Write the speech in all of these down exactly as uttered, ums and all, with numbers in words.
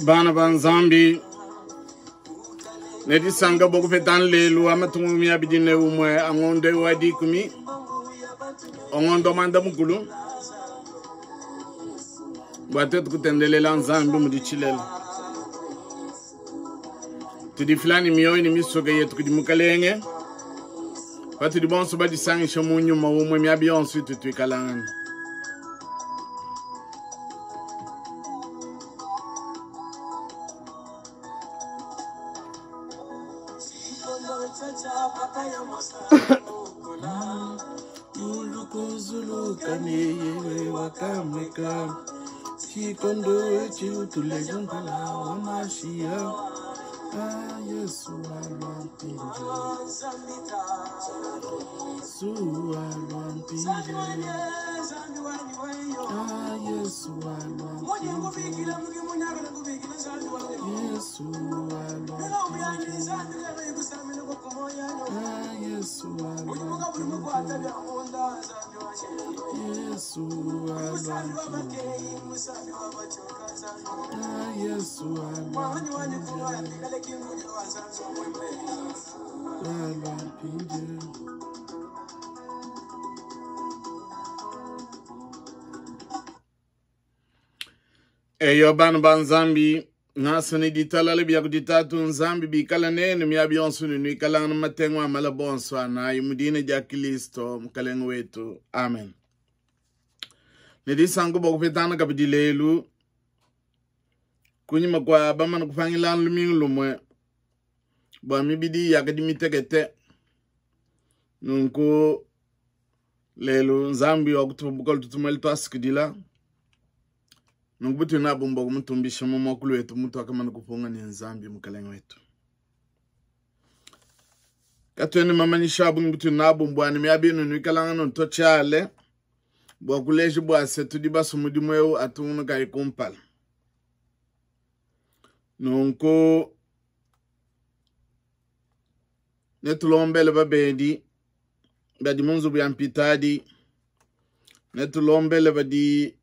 Bana ba Nzambi ne disanka bua kupeta lelu wa matuku makumi abidi ne umue a ngondo wa dikumi ngondo mwanda mukulu bua tuetu kutendelela Nzambi mudi tshilele tudifila ni mioyo ni misoka yetu kudi mukalenge patudi bonso badisangisha mu nyuma umwe miabi yonso itu tuikalangana. Chikondo chiutulejuntala wa mashia ah Yesu alwampinje Yesu alwampinje ah Yesu alwampinje Yesu alwampinje ah Yesu alwampinje Yesu alwampinje ah Yesu alwampinje alwampinje. Eyo bana ba Nzambi ngasani ditalale bya kuditatu Nzambi bikala nenu miabi yonso nuikala na matengo amala bonso anayi mudine dia Kristo mukalenge wetu. Amen. Nedisango bokupetana kabidi lelu kunyima kwa bamana kupangila lumingu lumwe bwa mibidi yakadi mitekete nunku lelu Nzambi wakutubuka tutumali twasikidila nunku butu nabo mbogo mutumbisha mu mwakulu wetu mutu akamana kupunga ni Nzambi mukalenge wetu. Katweni mamanyisha abu butu nabo mbwani miabinu nuikalanga nontochale bwa kuleji bwa setu di basu mudimu eu atunu kai kumpala. Nunku netulombele babedi badi munzubu ya mpitadi, netulombele badi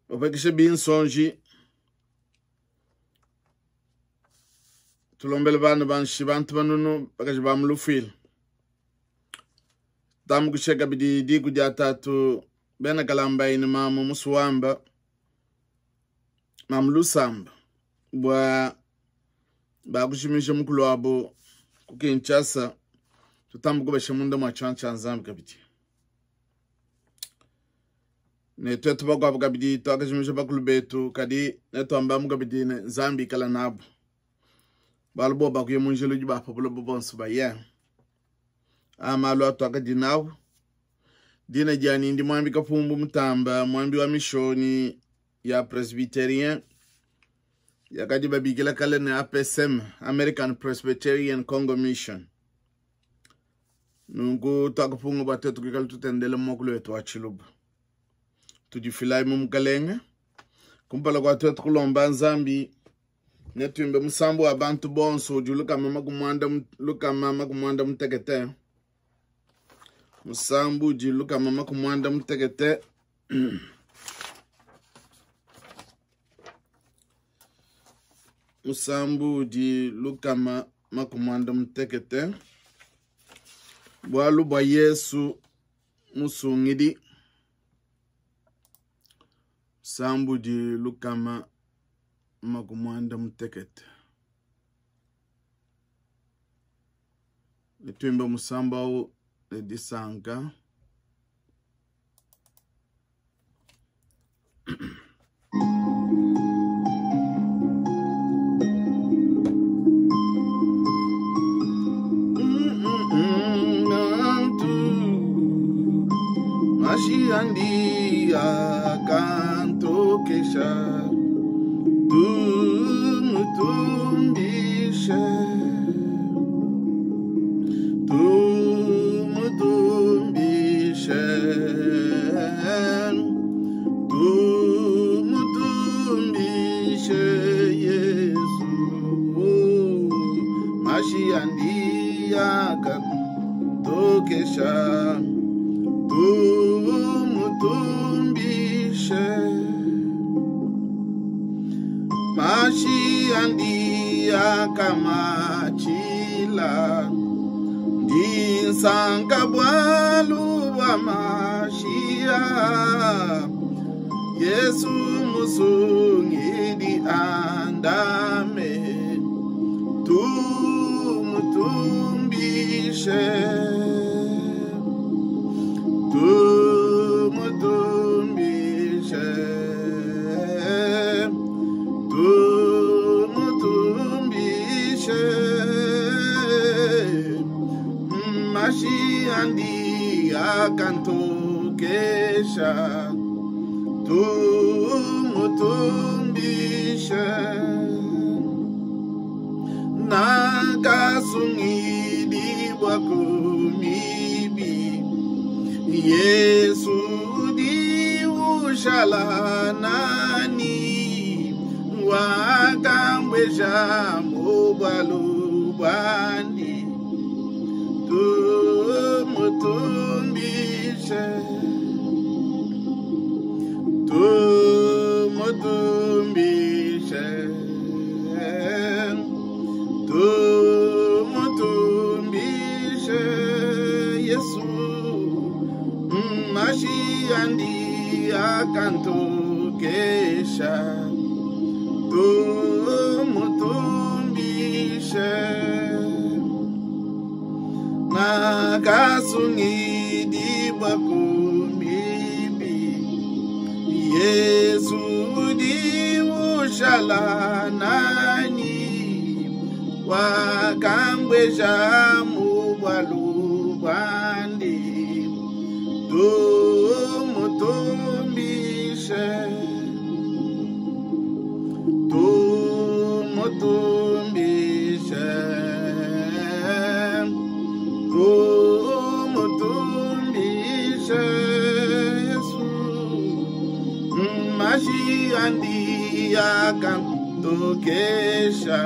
bapakisha binsonji, tulombele bana banshi bantu banunu bakaji ba mulufwila tamukusheka bidi diku dia tatu bena kalamba ine mama musuwamba mamu lusamba bwa bakushimisha mukulu wabo ku Kinshasa tutambuku munda mwa chancha Nzambi kabidi ne twetu bakwabo kabidi twakashimisha bakulu betu kadi netwamba mukabidi ne Nzambi kala nabo balubo bakuye munjelo ji bapabulo bonso baye amalu atwakadi nawo dina jani ndi mwambi Kapumbu Mutamba mwambi wa mishoni ya Presbyterian yakadi babigila kale ne A P S M American Presbyterian Congo Mission. Nungu twakapunga batetu kikala tutendele mokulu wetu wa Chiluba tudifilai mu mukalenge kumpala kwa twetu kulomba Nzambi netuimbe musambu wa bantu bonso udi lukama makumwanda lukama makumwanda mutekete musambu udi lukama makumwanda mutekete musambu udi lukama makumwanda mutekete bwalu bwa Yesu musungidi musambu udi lukama makumwanda mutekete netuimbe musambu au disanka Mashiandi akantokesha tumutumbishe tumutumbishe tumutumbishe Yesu Mashiandi akantokesha tumutumbishe. andi akamatshila Ndinsanka bwalu bwa mashia Yesu musungidi andame Tumutumbishe Tumutumbishe Tumutumbishe Mashi andi akantokesha Tumutumbishe Nakasungidi bwa kumibi Yesu di ushala nani Wakambweja mubwalu bwandi Tumutumbishe Tumutumbishe Tumutumbishe Yesu Mashi andi akantokesha Tumutumbishe Nakasungidi bwa kumibi Yesu di ushala nani Wakambweja mubwalu bwandi Tumutumbishe Tumutumbishe Tumutumbishe Yesu Mashi andi akantokesha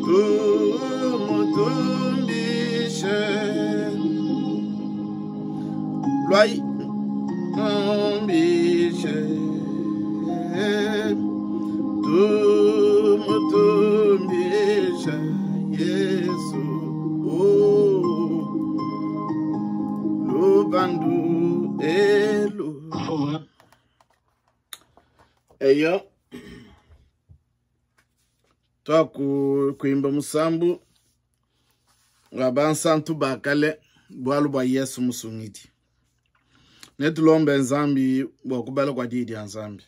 Tumutumbishe Lwai Tumbishe Tumutumbishe Yesu Oh Lubandu elu Eyo Twaku kuimba musambu wa bansantu bakale bwalu bwa Yesu musungidi Netulombe nzambi bwa kubala kwa didi ya nzambi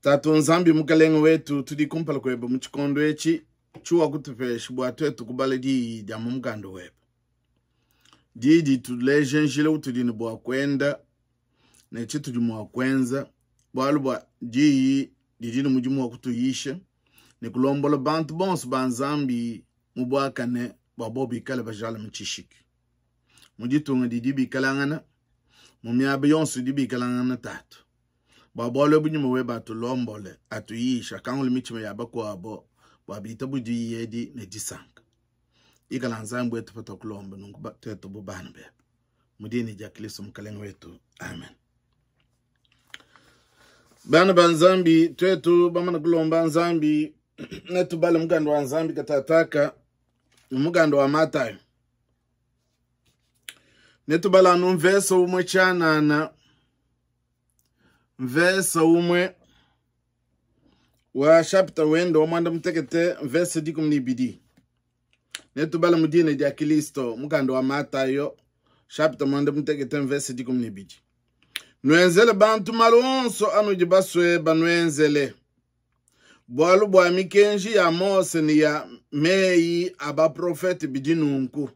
Tatu nzambi mukalenge wetu tudi kumpala kwebe mu tshikondo etshi tshiwa kutupesha bua tuetu kubala diyi dia mu mukanda webe Didi tuleje njila utudi ne bua kuenda ne tshitudi mua kuenza bualu bua diyi didi ne mudimu wa kutuyisha ne kulombola bantu bonso ba nzambi mu buakane bua bo bikale bajala mu tshishiki Mu ditunga didi bikalangana mu miaba yonso idi bikalangana tatu Bua bualu ebu nyuma webe atulombole atuyisha kangula mitshima ya bakuabo bua bitabu diyi edi ne disanka Ikala nzambi wetu patakulomba nunku tuetu bu bana bebe Mu dina dia Kristo mukalenge wetu amen Bana ba nzambi tuetu bamana kulomba nzambi netubale mukanda wa nzambi katataka mukanda wa Matayo Netubala anu mvesa umwe tshianana mvesa umwe wa chapter wendo wa mwanda mutekete mvesa dikumi ni ibidi Netubala mu dina dia Kristo mukanda wa Matayo chapter mwanda mutekete mvesa dikumi ni ibidi Nwenzele bantu malu onso anudi baswe banwenzele Bwalu bwa mikenji ya Mose ni ya meyi abaprofete bidi nunku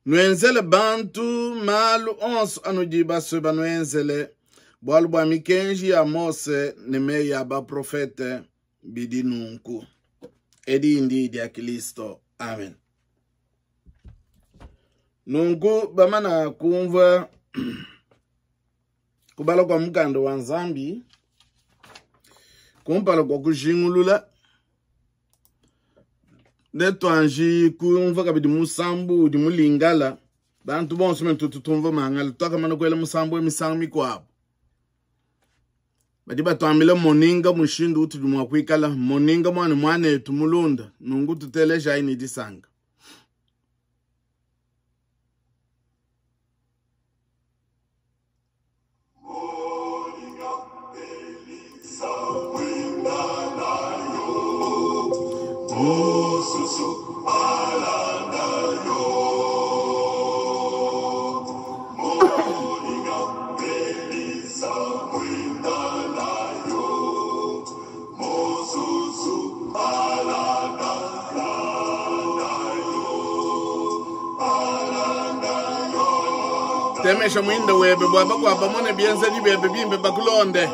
Nwenzele bantu malu onso anudi baswe banwenzele Bwalu bwa mikenji ya Mose ne meyi abaprofete bidi nunku Edi ndi dia Kristo amen Nunku bamana kumva kubala kwa mukanda wa nzambi kumpala kwa kujingulula netwanji kumva kabidi musambu udi mulingala bantu bonso me tutu tumva mangala twakamana kwela musambu emisango mikwabo Badi batuambila moninga mushindu utudi mua kuikala moninga mwana mwanetu mulunda nungu tutelejayi ne disanka. Temesha mwinda webe bwaba kwaba mone bienzeli bebe bimbe bakulonde.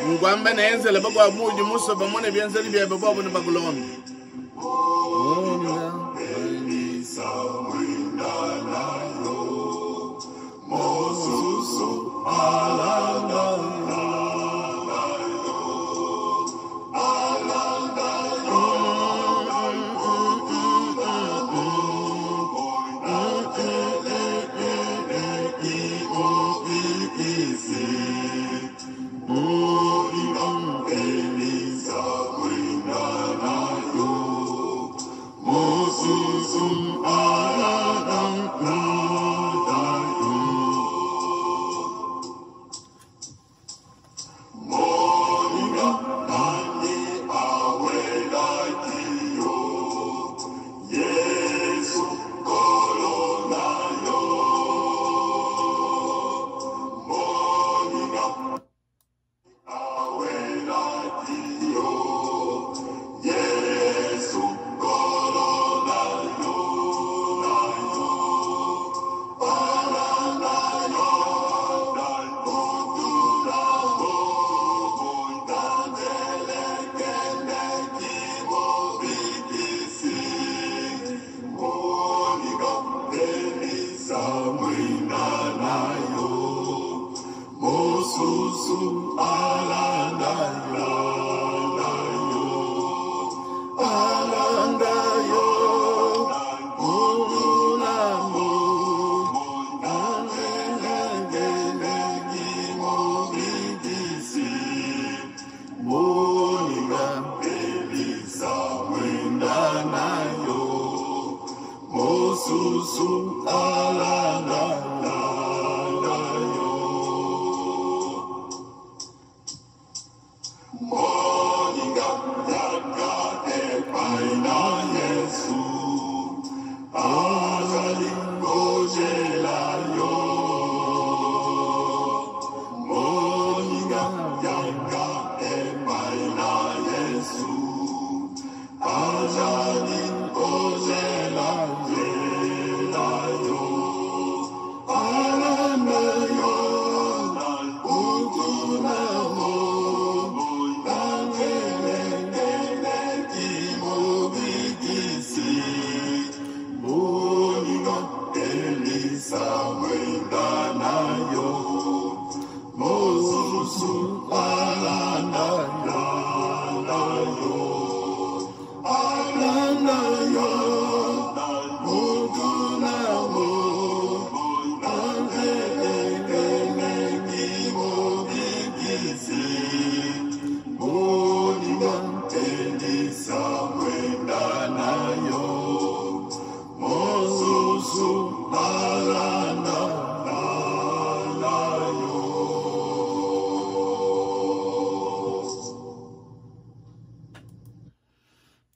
Ngwamba nenzele bakwa muji muso bamone bienzeli bebe bwabo ne bakulonde.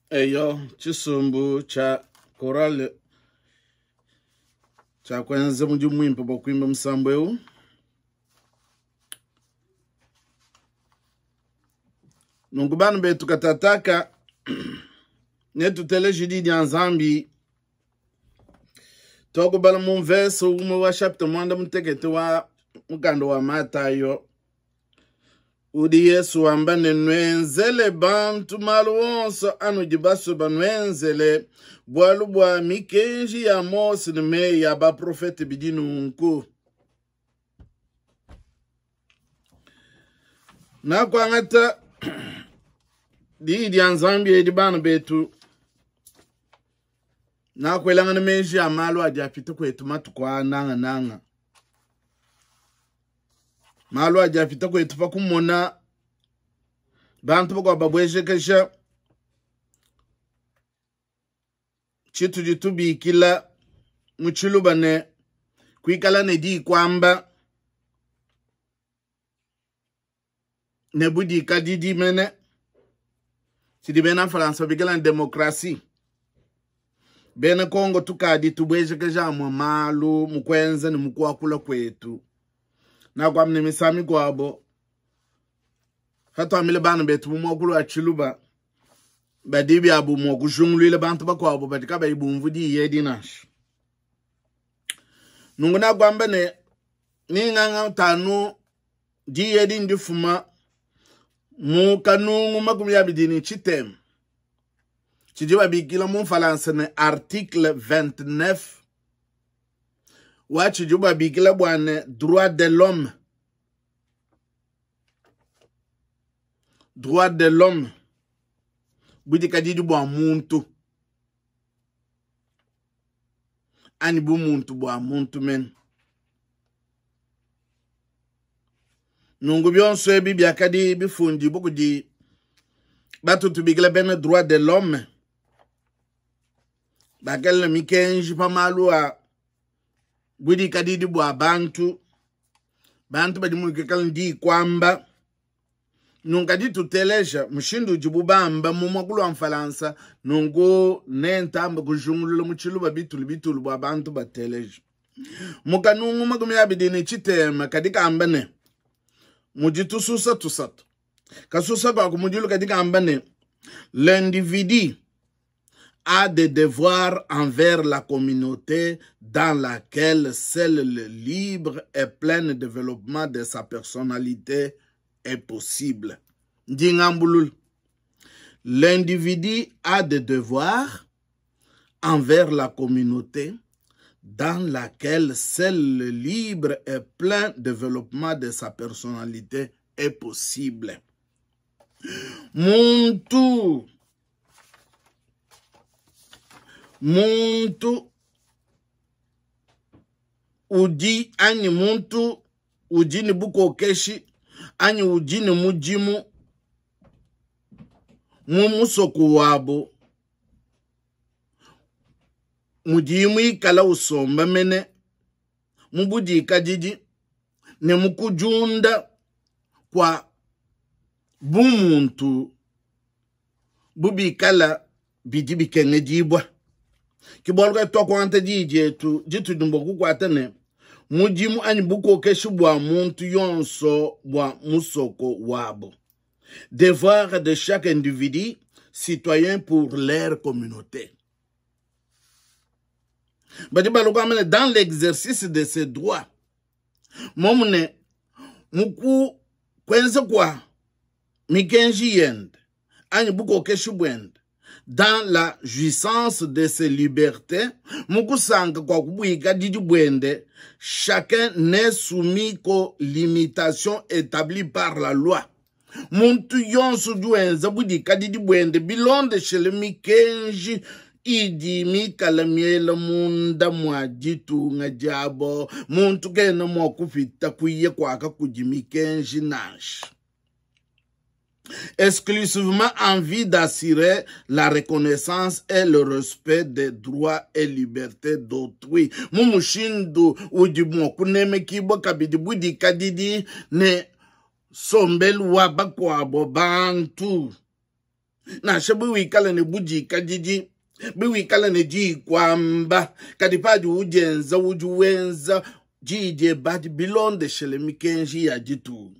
Eyo chisumbu cha korale cha kwenze mudimu mwimpe bwa kuimba musambo eu. Nungu banu betu katataka netuteleje di dia Nzambi tokubala mu verse umwe wa chapter mwanda mutekete wa mukando wa Matayo. Udi Yesu wamba ne nwenzele bantu malu onso anu dibaso banwenzele bwalu bwa mikenji ya Mose ne meyi ya baprofete bidi nunku. Nakwangata di dia Nzambi edi bana betu nakwelangana meji ya malu adi apita kwetu matuku a nanga nanga. Malu adi apita kwetu pa kumona bantu bakuabu babwejekesha tshitudi tubikila mu tshiluba ne kuikala ne dikwamba ne budikadidi mene tshidi bena Faransa babikila ne demokrasi. Bena Kongo tukadi tubwejekeja amwe malu mu kuenza ne mu kuakula kwetu. Nakwamne misami kwabo hatwamile bana betu mu mwakulu wa tshiluba badi byabu mwa kujungulwila bantu bakwabo badi kabayi bumvu diyi edi nansha. Nungu nakwamba ne ninganga tanu diyi edi ndifuma mu kanungu makumi abidi ni tshitema tshidi babikila mu Faransa ne article vingt-neuf wa tshidi babikila bua ne droit de l'homme. Droit de l'homme budikadidi bua muntu ani bu muntu bua muntu men. Nungu byonso ebi byakadi bifundi bukudi batu tubikila bena droit de l'homme bakela mikenji pa malu a budikadidi bua bantu bantu badi muikala ndi kwamba. Nungu tuteleja mushindu udibu bamba mu mwakulu wa Mfalansa nungu nentamba kujungulula mu tshiluba bitulu bitulu bua bantu bateleja. Mukanungu makumi abidi ne tshitema kadi kamba ne mudi tususa tusatu kasusa kwa kumudilu kadi kamba ne l'individu a des devoirs envers la communauté dans laquelle seul le libre et plein développement de sa personnalité est possible. Ndingambulul. L'individu a des devoirs envers la communauté dans laquelle seul le libre et plein développement de sa personnalité est possible. Muntu, muntu udi anyi muntu udi ni bukokeshi anyi udi ni mudimu mu musoko wabo mudimu ikala usomba mene mu budikadidi ne mu kujunda kwa bumuntu bubikala bidi bikengedibwa. Kibolga twakwanta dijetu ditudumbo kukwata ne mudimu anyi bukokeshi bwa muntu yonso bwa musoko wabo. Devoir de chaque individu citoyen pour leur communauté. Badi balokwa dans l'exercice de ses droits. Momune muku kwenza kwa mikenji yende anyi bukokeshi bwende dans la jouissance de ses libertés, mukusanga kwa kubuika didi bwende, chacun n'est soumis qu'aux limitations établies par la loi. Muntu yonso duenza budika didi bwende bilonde shele mikenji idi mikala miela munda mwa ditunga diabo muntu kena mwa kupita kuye kwaka kudi mikenji nansha. Exclusivement en vue d'assurer la reconnaissance et le respect des droits et libertés d'autrui. Mumushindu udi mwa kuneme kibo kabidi budika didi ne sombelu wa bakwabo bantu. Nansha biwikala ne budika didi, biwikala ne dikwamba, kadi padi ujenza ujuwenza jije badi bilondeshele mikenji ya ditunga.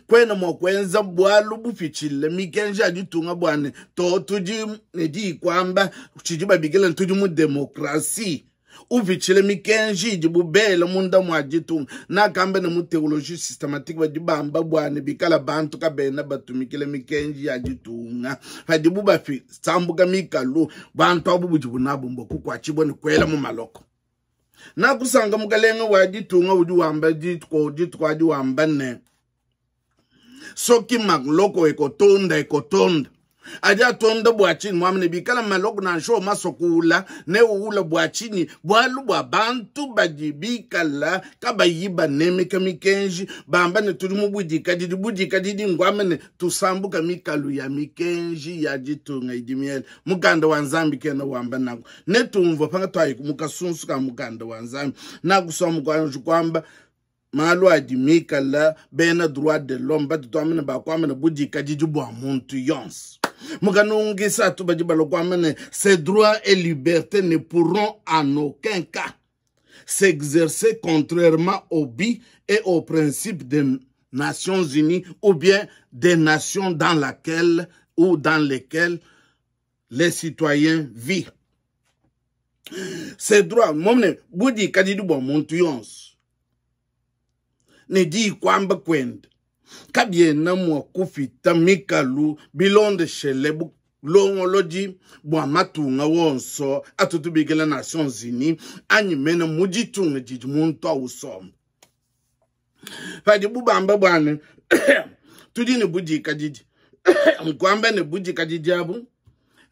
Kwena mwa kwenza bwalu bufichile mikenji ya ditunga bwane to tudi ne dikwamba chidi babikila tudi mu demokrasi. Ufichile mikenji idi bubele munda mwa ditunga. Na kambe na mu théologie systématique badi bamba bwane bikala bantu kabena batumikile mikenji ya ditunga. Fadi bubafi sambuka mikalu bantu abu bujibu nabu mboku kwa chibo ni kwela mu maloko. Na kusanga mukalenga wa ditunga udi wamba dituko dituko adi wamba ne. Soki maloko ekotonda ekotonda. Adi atonda bua tshinyi? Muambe ne bikala maloko nansha masua kuula ne uula bua tshinyi? Bualu bua bantu badi bikala kabayi banemeka mikenji, bamba ne tudi mu budikadidi. Budikadidi ngwambe ne tusambuka mikalu ya mikenji ya ditunga idi miele. Mukanda wa Nzambi kena wamba nanku. Netumvue pangatwayi mu kasunsu ka mukanda wa Nzambi. Nakusua mukwanji kwamba malu adi mikala bena droit de l'homme batu twamene bakwamene budikadidi bua muntu yonso. Mukanungisa atu badi balokwamene ces droits et libertés ne pourront en aucun cas s'exercer contrairement au but et aux principes des Nations Unies ou bien des nations dans laquelle ou dans lesquelles les citoyens vivent. Ces droits, momne budikadidi bua muntu yonso ne di kwamba kwenda kabiena mua kupita mikalu bilondeshele bulongolodi bua matunga wonso atutubikila Nations Unies anyi mene mu ditunga didi muntu awusomba. Padi bubamba bwane tudi ne budikadidi nkwamba ne budikadidi abu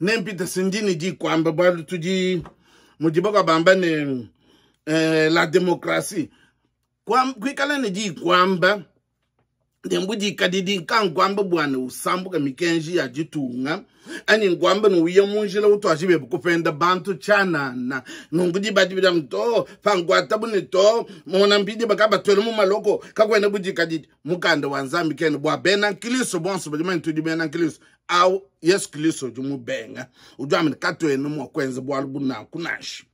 nempita sindini di kwamba bwalu tudi mudiba bamba ne eh, la démocratie kwikala ne di kwamba nembudikadidi nkankwamba bwana usambuka mikenji ya ditunga ani nkwamba nuuya munjila utwajibe kupenda bantu chanana nungudi badi bida mto fangwata bune to mona mpidi bakabatwele mu maloko kakwena budikadidi mukanda wa Nzambi kene bwa bena Kristo bonso badi tudi bena Kristo au Yesu Kristo jumubenga ujamene katwene mu kwenza bwalu buna kunashi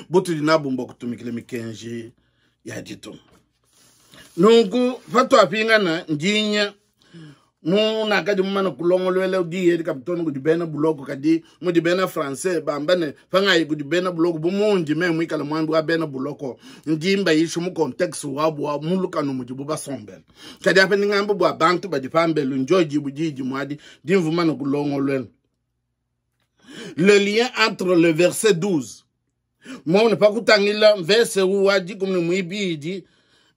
butudi nabumba kutumikile mikenji ya ditunga. Nungu fatwapingana njinya muna kadi mumana kulongolwela udiye kapitoni kudi bena buloko kadi mudi bena français bambane fangai kudi bena buloko bumunji me mwikala mwambi wa bena buloko njimba yishu mu contexte wabu wa mulukano mujibu basombela kadi apa ningambo bwa bantu badi pambelu njoji bujiji mwadi dimvumana kulongolwela. Le lien entre le verset douze mona pakutangila verset wadi kumne mwibidi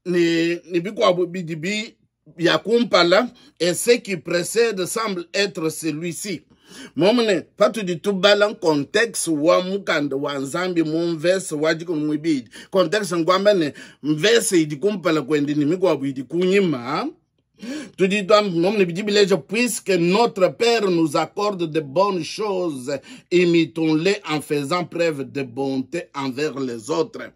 ni ni bikwabu bidibi ya kumpala et ce qui précède semble être celui-ci. Momene patudi tubala contexte wa mukanda wa Nzambi mu verse wadi kumne mwibidi contexte ngwamba ne verse idi kumpala kwendi ni mikwabu idi kunyima. Tu dis toi, puisque notre Père nous accorde de bonnes choses, imitons-les en faisant preuve de bonté envers les autres.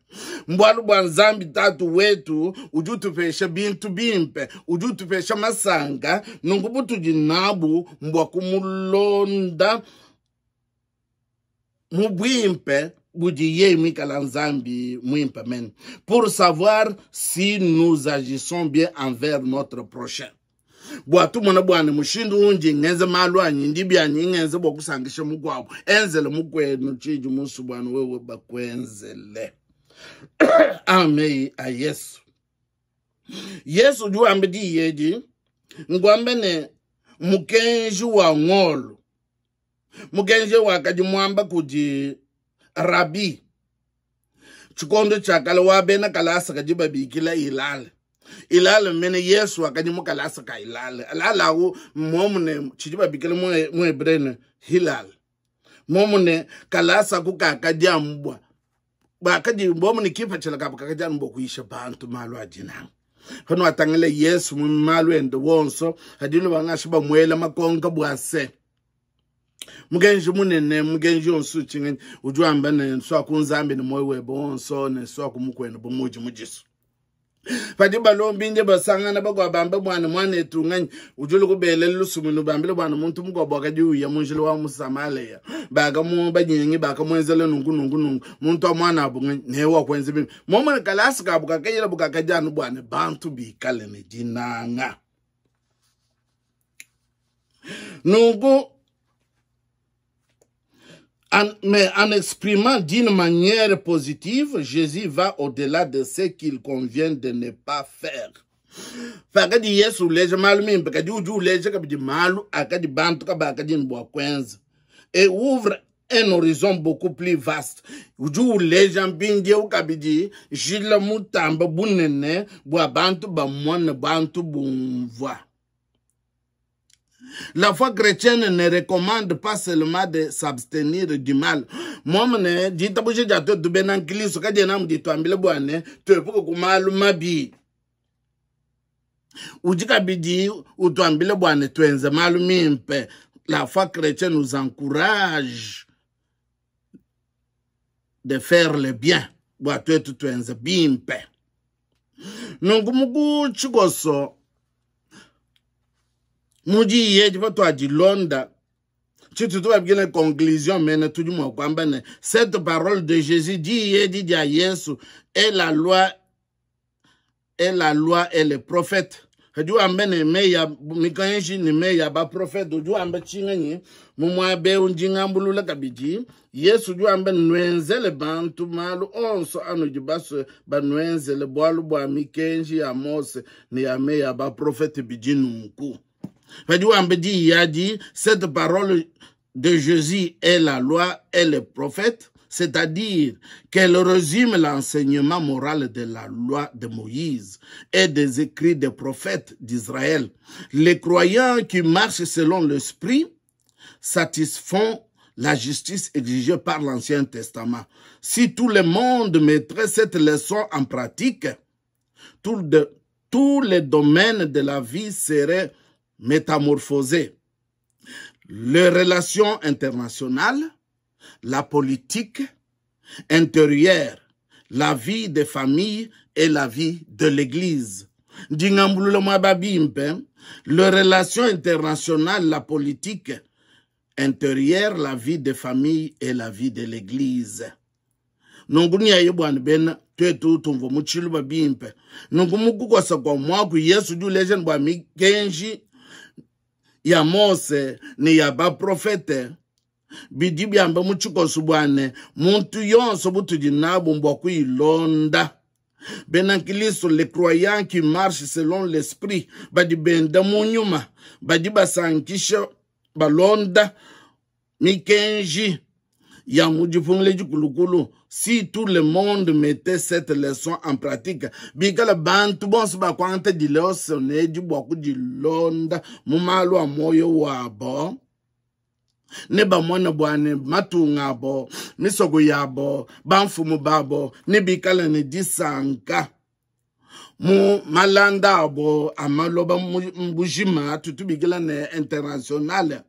Mbwalu bwa Nzambi tatu wetu, uju tupesha bintu bimpe, uju tupesha masanga, nungu jinabu mbwa kumulonda mubwimpe budiye mikala Nzambi mwimpe men pour savoir si nous agissons bien envers notre prochain. Bwa tu mona bwana mushindu unji ngenze malu anyi ndibi anyi ngenze bwa kusangisha mugwabo enzele mukwenu chiji musu bwana wewe bakwenzele. Amen a Yesu. Yesu juambe di yedi ngwambe ne mukenji wa ngolo mukenji wakadi mwamba kudi Rabi chikondo chakala wa bena kalasa kajiba bikila ilale ilale mene Yesu akadi mukalasa ka ilale alala wo momune chijiba bikila mu hebrene hilal momune kalasa kukakadiambwa bakadi momune kipa chelaka bakakadiambwa kuisha bantu malu ajina hano atangele Yesu mu malu ende wonso hadilo bangashiba mwela makonka bwase mugenji munene mugenji onsu chingenyi ujuamba ne nswa kunzambi ne moyo webo onso ne nswa kumukwena bomuji mujisu padi balombi nje basangana bagwa bamba mwana mwana etunganyi ujulu kubele lusumunu bambile bwana muntu mugwa kadi uya munjilo wa musamaleya baga mu banyingi baka mwenzele nungu nungu nungu muntu wa mwana abunganyi ne wa kwenze bimi momwe kalasi kabuka kayira bukakajanu bwana bantu bikale ne dinanga nungu. En, mais en exprimant d'une manière positive, Jésus va au-delà de ce qu'il convient de ne pas faire. Fakadi Yesu uleje malu mimpe, kadi uju uleje kabidi malu akadi bantu kabakadi mbwa kwenza. Et ouvre un horizon beaucoup plus vaste. Uju uleje mbindie ukabidi jila mutamba bunene bwa bantu ba mwana bantu bumvwa. La foi chrétienne ne recommande pas seulement de s'abstenir du mal. Mwamune ditabuja dia twetu bena nkristo kadiena amu dituambila bua ne tuepuke ku malu mabi. Udi kabidi utuambila bua ne tuenze malu mimpe. La foi chrétienne nous encourage de faire le bien. Bua tuetu tuenze bimpe. Nunku mu tshikoso mudi yedi patuadilonda tshitutu babikila conclusion mene tudi mua kuamba ne cette parole de Jésus dit yedi dia Yesu est la loi est la loi et les prophètes. Udi wamba ne meyi ya mikenji ne meyi ya baprofete. Udi wamba tshinganyi mu muaba eu ndi ngambulula kabidi. Yesu udi wamba ne nuenzele bantu malu onso anudi basue banuenzele, bualu bua mikenji ya Mose ne ya meyi ya baprofete bidi nunku. Padi wamba diyi adi, cette parole de Jésus est la loi et les prophètes, c'est-à-dire qu'elle résume l'enseignement moral de la loi de Moïse et des écrits des prophètes d'Israël. Les croyants qui marchent selon l'Esprit satisfont la justice exigée par l'Ancien Testament. Si tout le monde mettrait cette leçon en pratique, tout de, tous les domaines de la vie seraient métamorphosés. Les relations internationales, la politique intérieure, la vie des familles et la vie de l'Église. Ndingambulula mwa bimpe, les relations internationales, la politique intérieure, la vie des familles et la vie de l'Église. Nungu ni aye bwana bena twetu tumvo mu tshiluba bimpe. Nungu mukukosa kwa mwaku Yesu udi uleja bwa mikenji ya Mose ne ya baprofete bidi byamba mu tshikoso bwane muntu yonso butudi nabo mbwa kuilonda. Bena Kristo, les croyants qui marchent selon l'esprit badi benda mu nyuma badi basankisha balonda mikenji ya mu dipungile dikulukulu. Si tout le monde mettait cette leçon en pratique, bikala bantu bonso bakwanta dileso ne dibwa kudilonda mu malu a moyo wabo ne bamona bwane matunga abo misoko yabo bamfumu babo ne bikala ne disanka mu malanda abo amaloba mbujima tutubikila ne international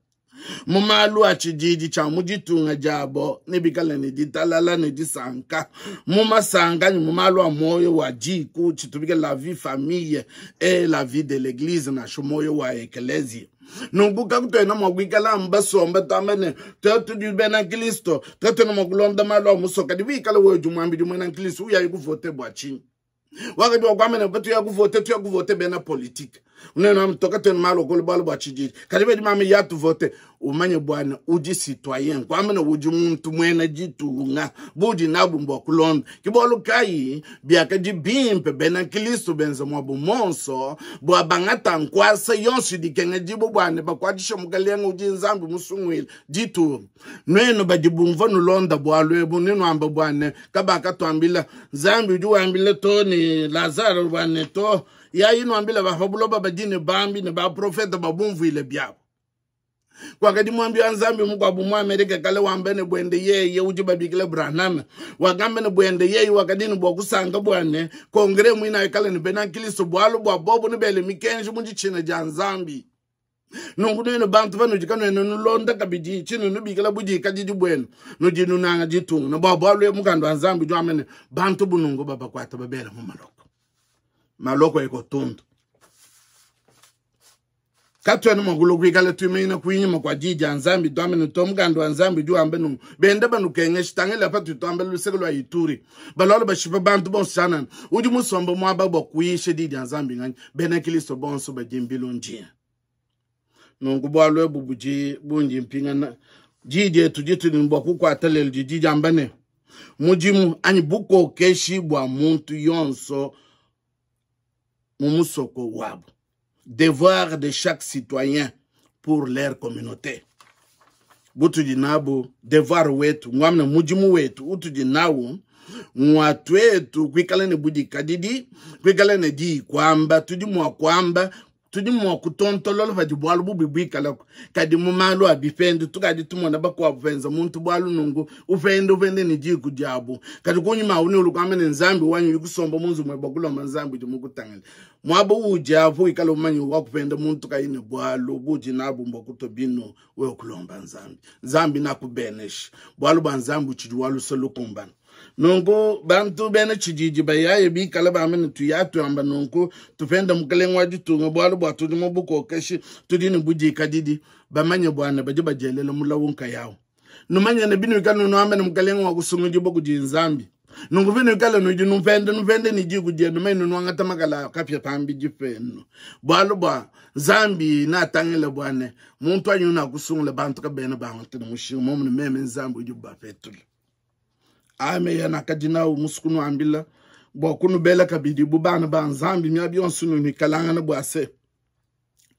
mu malu a tshididi tshia mu ditunga diabo ne bikala ne ditalala ne disanka mu masanga ni mu malu a moyo wa diku tshitubikila la vie famille et la vie de l'église na moyo wa ecclesia. Nungu kakutwena mwa kuikala mbasomba twamba twetu tudi bena Kristo twetwena mwa kulonda malu a musoka di wikala wewe jumwambi jumwena Kristo uya kuvote bwa chini wakati wa kwamene batu ya kuvote tu ya kuvote bena politique unena mtoka tena malo kolo balo bwa chijiji kalibe di mama ya tuvote umanye bwana udi citoyen kwamene udi muntu mwena jitunga budi nabu mbwa kulonda kibolo kai biaka di bimpe bena Kristo benza mwa bumonso bwa bangata nkwasa yonsi dikenga jibo bwana bakwadisha mukalenga udi nzambi musungwile jitu nweno badibumva nulonda bwalwe buneno amba bwana kabaka twambila nzambi udi wambile toni Lazaro bwana to ya ino ambila ba buloba badine bambi ne ba profeta babumvile byabo kwakati mwambi wa nzambi mukwabu mu Amerika kale wambene bwende yeye uji babikile Branham wakambene bwende yeye wakadini bwa kusanga bwane kongre mwina kale ni bena Kristo bwalo bwa bobo ni bele mikenji mu ditshina dia nzambi nungu neno bantu banu jikano eno nulonda kabidi chinu nubikila budi kadidi bwenu nudi nunanga ditunga no bwa bwalo mukando wa nzambi jwamene bantu bunungu baba kwata babela mu maloko maloko ekotundu katwena magulu kwikala tumeina kuinyuma kwa dija nzambi twamene tomukando wa nzambi jwambe nu bende banukenge shitangela patu twambe luseke lwa Ituri balolo bashipa bantu bonso udi musomba mwaba bwa kuishe dija nzambi ngani bena Kristo bonso bajimbilo njia nungu bwalwe bubuji bunji mpingana jije tujitu ni mbwa kukwata lelo jiji ambane mujimu anyi bukokeshi bwa muntu yonso mumusoko wabo. Devoir de chaque citoyen pour leur communauté. Butu dinabu devoir wetu ngwamna mujimu wetu utu dinawu ngwatu wetu kwikala ne budi kadidi kwikala ne di kwamba tudi mwa kwamba Tudi mua kutontolola padi bualu bubi buikalaku. Kadi mu malu a bipendu tukadi tumona bakuabu benza muntu bualu nungu upende upende ne diku diabu. Kadi kunyima uni ulukwamba ne Nzambi wanyi kusomba mu nzubu mwebe kulomba Nzambi udi mukutangile. Mwaba udi apo ikala umanye wa kupenda muntu kayi ne bualu budi nabu mbwa kuto binu wewe kulomba Nzambi. Nzambi nakubenesha. Bualu bua Nzambi utshidi wa luse lukumbana. Nunku bantu bena tshididi bayaye bikala bamene tuya tuamba nunku tupenda mukelenge wa ditunga bualu bua tudi mu bukokeshi tudi ne budikadidi bamanye bwana badi badielela mulawu nkayawu. Numanye ne binu ikala nuambe ne mukelenge wa kusungudibwa kudi Nzambi. Nunku binu ikala nudi nupenda nupende ni diku dienu menu nuangata makala kapya pambidi penu. Bualu bua Nzambi natangile bwane muntu anyu nakusungula bantu kabena bangata ne mushinga momune meme Nzambi udi ubapetula. Ame ya nakadina umusukunu ambila bua kunubela kabidi bu bana ba Nzambi miabi yonso nuikalangana bua se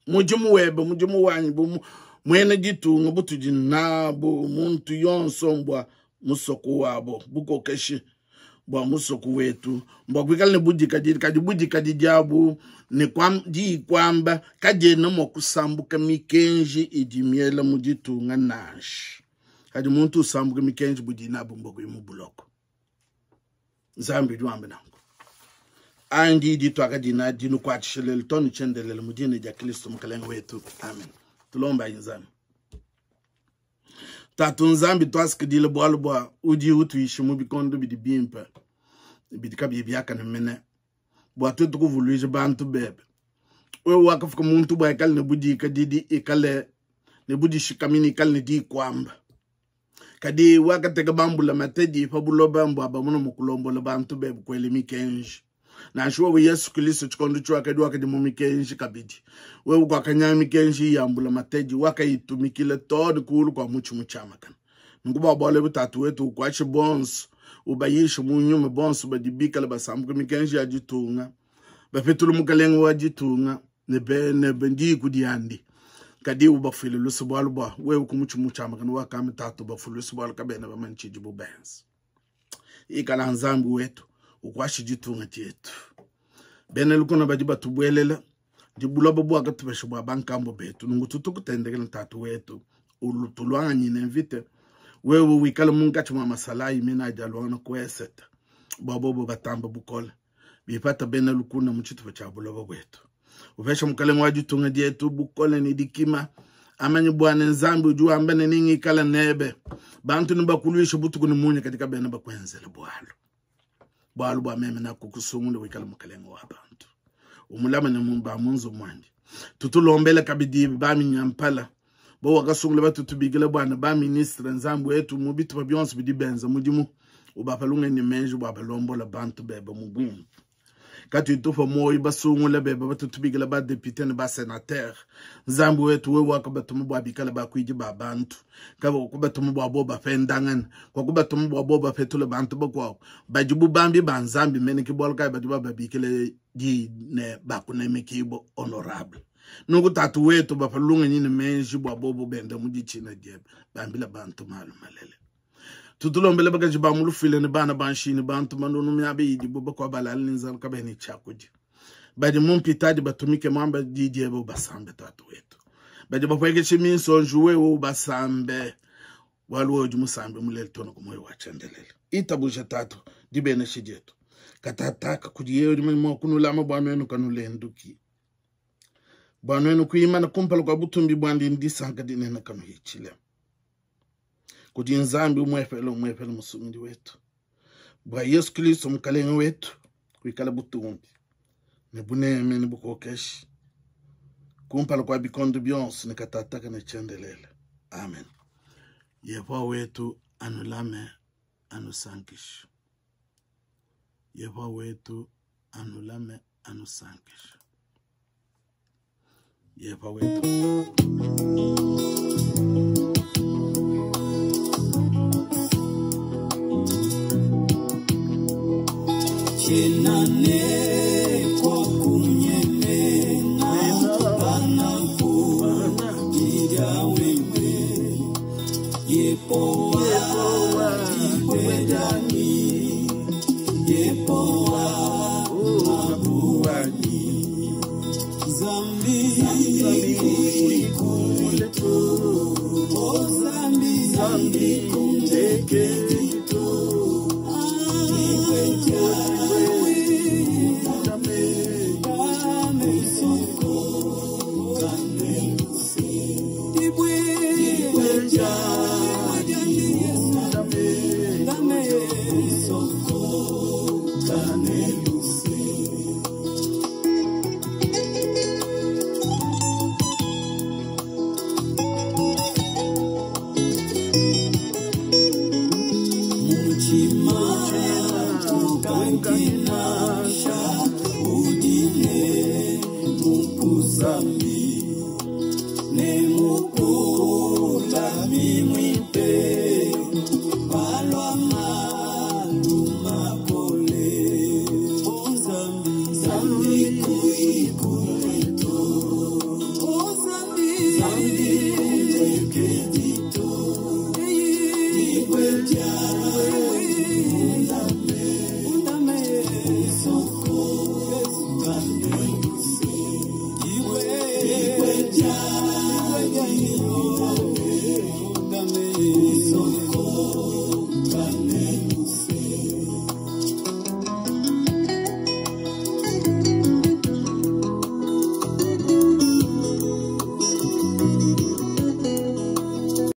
mudimu webe mudimu wanyi bu mwene ditunga butudi nabu muntu yonso mbwa musoko wabo bukokeshi bua musoko wetu mbwa kuikala ne budikadidi kadi budikadidi diabu ne kwam, di kwamba kadiena mua kusambuka mikenji idi miela mu ditunga nansha. Kadi muntu usambuka mikenji budi nabu mbwa kuyi mu buloko. Nzambi udi wamba nanku. Andi di twakadina dinu kwatshelele tonu chendelele mudine dia Kristo mukalenge wetu. Amen. Tulomba Nzambi. Tatu Nzambi twasikidile bualu bua udi utuishi mu bikondo bidi bimpe bidi kabiyi biakane mene bua tuetu kuvuluija bantu bebe. Wewe wakafuka muntu bua ikale ne budikadidi ikale ne budishikamini ikale ne dikwamba. Kadi wakateka bambula matedi pa buloba mbwa bamuna mukulombola bantu bebe kwele mikenji. Nansha wewe Yesu Kristo tshikondo tshiwakadi wakadi mu mikenji kabidi. Wewe kwakanya mikenji ya mbula matedi wakayitumikila too ne kulu kwa mutshi mutshiamakana. Nunku bua bualu ebu tatu wetu ukuatshe bonso ubayishe mu nyuma bonso badi bikala basambuka mikenji ya ditunga bapetula mukalenge wa ditunga ne be ne diku diandi. Kadi ubafuile luse bualu bua wewe ku mutshi mutshiamakana wakamba tatu bafuile luse bualu kabena bamanye tshidibu benza. Ikala Nzambi wetu ukwashe ditunga dietu. Bena lukuna badi batubuelela dibuloba bwakatupesha bwa bankambo betu nungu tutukutendekela tatu wetu ulutulwanganyine mvite wewe wikale munkatshi mwa masalayi mina adi alwangana kueseta bwa bobo batamba bukole bipata bena lukuna mu tshitupa tshia buloba bwetu. Upesha mukalenge wa ditunga dietu bukole ne dikima amanye bwana Nzambi udi wamba ne ningikala nebe bantu nibakulwisha butuku ne munya katika bena bakwenzela bwalu bwalu bwa meme nakukusungula wikala mukalenge wa bantu umulama ne mumba munzu mwandi tutulombela kabidi ba minyampala bo wakasungula batutubikila bwana ba ministre Nzambi wetu mu bitupa byonso bidi benza mudimu ubapalunga ne menji bwa balombola bantu bebe mu bwimpe. Kati tufa moyo basungula bebe batutubikila ba député ne ba sénateur Nzambi wetu wewe wakabatumu bwa bikala bakwidi ba bantu kaba kubatumu bwa bo bapendangana kwa kubatumu bwa bo bapetula bantu bakwabo bajibu bambi ba Nzambi mene kibwalu kai badi bababikile di ne bakunemekibo honorable. Nungu tatu wetu bapalunga nyine menji bwa bobo benda mudichina diebe bambila bantu malu malele. Tutulombele bakaji ba mulufile ne bana banshini bantu manunu miabe idi boba kwa balali nzambi kabeni chakudi. Badi mumpitadi batumike mwamba didi ebo basambe tatu wetu. Badi bapwekeshe minso njuwe wo basambe. Walu oju musambe mulele tono kumoyo wa chendelele. Itabusha tatu dibene shijetu. Katataka kudiye odi mwa kunulama bwa nwenu kanulenduki. Bwa nwenu kuimana kumpala kwa butumbi bwandi ndisanka dinena kanuhichile. Kudi Nzambi umwepele umwepele musumindi wetu. Bwa Yesu Kristo mukalenge wetu kuikala butumbi. Ne buneme ne bukokeshi. Kumpala kwa bikondo byonso ne katataka ne chendelele. Amen. Yehova wetu anulame anusankishe. Yehova wetu anulame anusankishe. Yehova wetu. Chenane kwa kunyemena banaku ida wewe yepowa ibedani yepowa mabuani zambi Ne mukula mimwipe palwa malu.